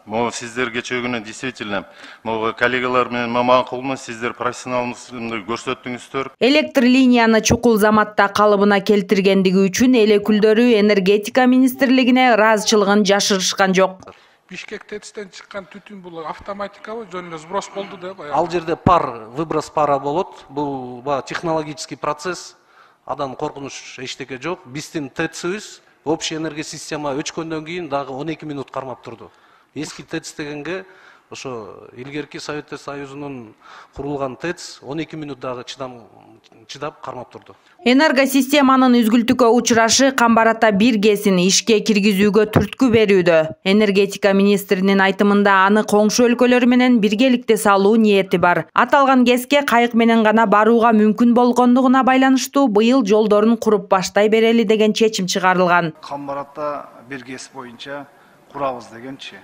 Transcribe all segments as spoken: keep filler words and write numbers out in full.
Могу сиздер кечээ күнү действительно могу коллегалар менен макулму, сиздер профессионалдыгыңызды көрсөттүңүздөр. Электр линияны чукул заматта калыбына келтиргендиги үчүн эл өкүлдөрү энергетика министрлигине ыраазычылыгын жашырышкан жок. Бишкек ТЭЦтен чыккан түтүн бул автоматикабы, жөн эле сброс болду да. Ал жерде пар, выброс пара болот. Бул технологический процесс. Адан коркунуч эчтеке жок. Биздин ТЭЦибиз общий энергия система өчкөндөн кийин дагы он эки минут кармап турду. Эски ТЭЦ дегенге ошо илгерки Советтер Союзунун курулган ТЭЦ он эки минут дагы чыдам чыдап кармап турду. Энергосистеманын үзгүлтүккө учурашы Камбар Ата бир ГЭСин ишке киргизүүгө түрткү берүүдө. Энергетика министринин айтымында аны коңшу өлкөлөр менен биргеликте салуу ниети бар. Аталган ГЭСке кайык менен гана барууга мүмкүн болгондугуна байланыштуу быйыл жолдорун куруп баштай берели деген чечим чыгарылган. Камбар Ата бир ГЭС боюнча курабыз дегенчи.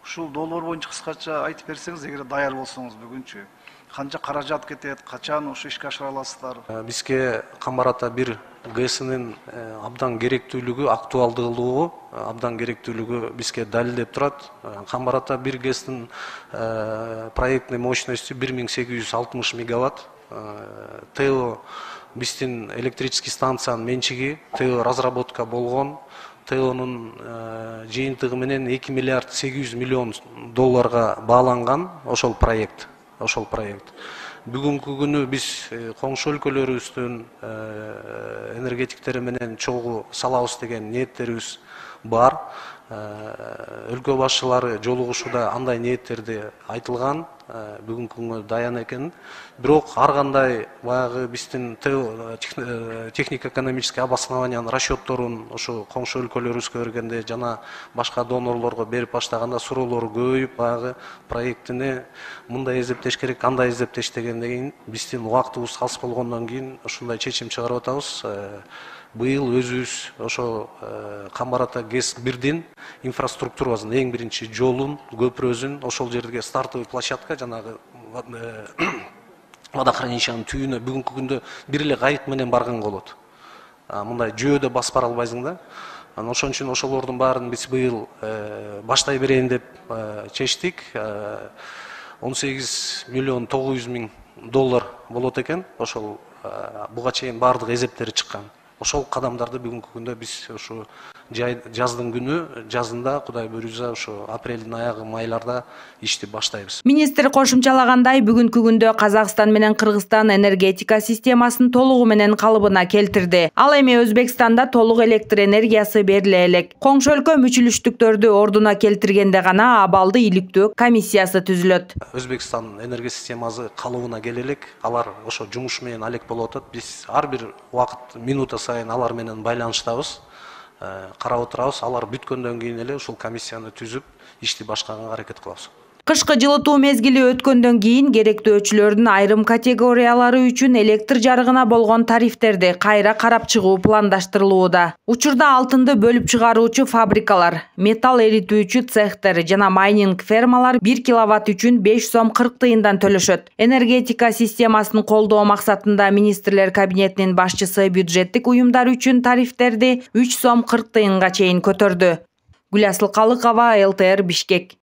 Ушул долбоор боюнча кыскача айтып берсеңиз, эгер даяр болсоңуз бүгүнчү канча каражат кетет, качан ушу ишке ашыра аласыздар? Бизге Камбар Ата бир ГЭСинин абдан керектүүлүгү, актуалдуулугу, абдан керектүүлүгү бизге далилдеп турат. Камбар Ата бир ГЭСтин проектный мощностью бир миң сегиз жүз алтымыш мегаватт. ТЭО биздин электрический станциянын менчиги, ТЭО разработка болгон. ТЭОнун жыйынтыгы менен эки миллиард сегиз жүз миллион долларга бааланган ошол проект. Ошол проект. Бүгүнкү күнү биз коңшу өлкөлөрүбүздүн энергетиктери менен чогуу салабыз деген ниеттерибиз бар. Өлкө башчылары жолугушууда андай ниеттерди айтылган, бүгүнкү күнгө даян экен. Бирок ар кандай баягы биздин технико-экономический обоснованиянын расчетторун ошо коңшу өлкөлөрүбүзгө бергенде жана башка донорлорго берип баштаганда суроолор көбөйүп, баягы проектини мындай эзептеш керек, андай эзептеш дегенден кийин биздин убактыбыз аз болгондон кийин ушундай чечим чыгарып атабыз. Быйыл өзүбүз ошо Камбар Ата ГЭС бирдин инфраструктурабыздын эң биринчи жолун, көпүрөсүн ошол жерге стартовый площадка жанагы водохранилищенин түбүнө бүгүнкү күндө бир эле кайык менен барган болот. Мындай жөөдө басып бара албайсың да. Ошон үчүн ошолордун баарын биз быйыл баштай берейин деп чечтик. он сегиз миллион тогуз жүз миң доллар болот экен. Ошол буга чейин баардык эсептери чыккан. Ошол кадамдарды бүгүнкү күндө биз ушу жаздын күнү, жазында Кудай буйрса ушу апрелдин аягы, майларда ишти баштайбыз. Министр кошумчалагандай, бүгүнкү күндө Казакстан менен Кыргызстан энергетика системасын толугу менен калыбына келтирди. Ал эми Өзбекстанда толук электр энергиясы бериле элек. Коңшу өлкө мүчүлүштүктөрдү ордуна келтиргенде гана абалды иликтөө комиссиясы түзүлөт. Өзбекстан энергия системасы калыбына келе элек, алар ошо жумуш менен алек болуп атат. Биз ар бир убакыт, минута сайын алар менен байланыштабыз. Карап отурабыз, алар бүткөндөн кийин эле ушул комиссияны түзүп, ишти башкарганга аракет кылабыз. Кышкы жылытуу мезгили өткөндөн кийин керектөөчүлөрдүн айрым категориялары үчүн электр жарыгына болгон тарифтерди кайра карап чыгуу пландаштырылууда. Учурда алтынды бөлүп чыгаруучу фабрикалар, металл эритүүчү цехтер жана майнинг фермалар бир киловатт үчүн беш сом кырк тыйындан төлөшөт. Энергетика системасын колдоо максатында министрлер кабинетинин башчысы бюджеттик уюмдар үчүн тарифтерди үч сом кырк тыйынга чейин көтөрдү. Гүласыл Калыкова, эл тэ эр Бишкек.